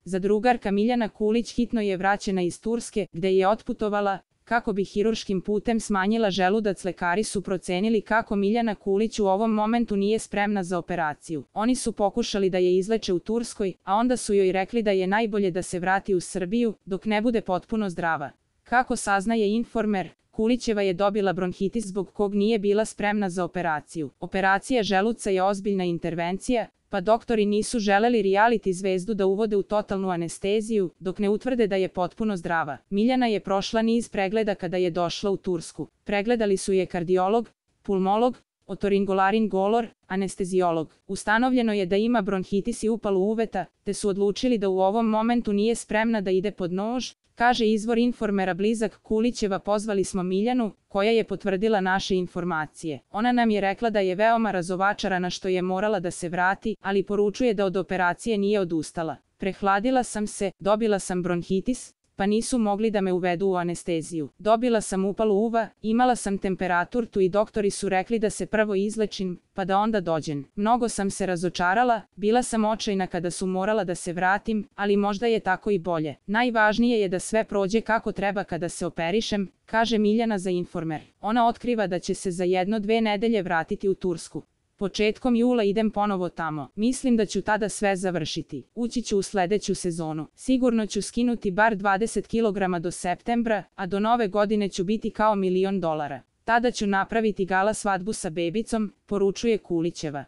Zadrugarka Miljana Kulić hitno je vraćena iz Turske, gde je otputovala, kako bi hirurškim putem smanjila želudac. Lekari su procenili kako Miljana Kulić u ovom momentu nije spremna za operaciju. Oni su pokušali da je izleče u Turskoj, a onda su joj rekli da je najbolje da se vrati u Srbiju, dok ne bude potpuno zdrava. Kako saznaje Informer, Kulićeva je dobila bronhitis zbog kog nije bila spremna za operaciju. Operacija želuca je ozbiljna intervencija, pa doktori nisu želeli reality zvezdu da uvode u totalnu anesteziju, dok ne utvrde da je potpuno zdrava. Miljana je prošla niz pregleda kada je došla u Tursku. Pregledali su je kardiolog, pulmolog, otorinolaringolog, anesteziolog. Ustanovljeno je da ima bronhitis i upalu uveta, te su odlučili da u ovom momentu nije spremna da ide pod nož, kaže izvor Informera blizak Kulićeva. Pozvali smo Miljanu, koja je potvrdila naše informacije. Ona nam je rekla da je veoma razočarana što je morala da se vrati, ali poručuje da od operacije nije odustala. Prehladila sam se, dobila sam bronhitis, pa nisu mogli da me uvedu u anesteziju. Dobila sam upalu uva, imala sam temperaturu i doktori su rekli da se prvo izlečim, pa da onda dođem. Mnogo sam se razočarala, bila sam očajna kada su morala da se vratim, ali možda je tako i bolje. Najvažnije je da sve prođe kako treba kada se operišem, kaže Miljana za Informer. Ona otkriva da će se za 1-2 nedelje vratiti u Tursku. Početkom jula idem ponovo tamo. Mislim da ću tada sve završiti. Ući ću u sledeću sezonu. Sigurno ću skinuti bar 20 kg do septembra, a do nove godine ću biti kao $1.000.000. Tada ću napraviti gala svadbu sa bebicom, poručuje Kulićeva.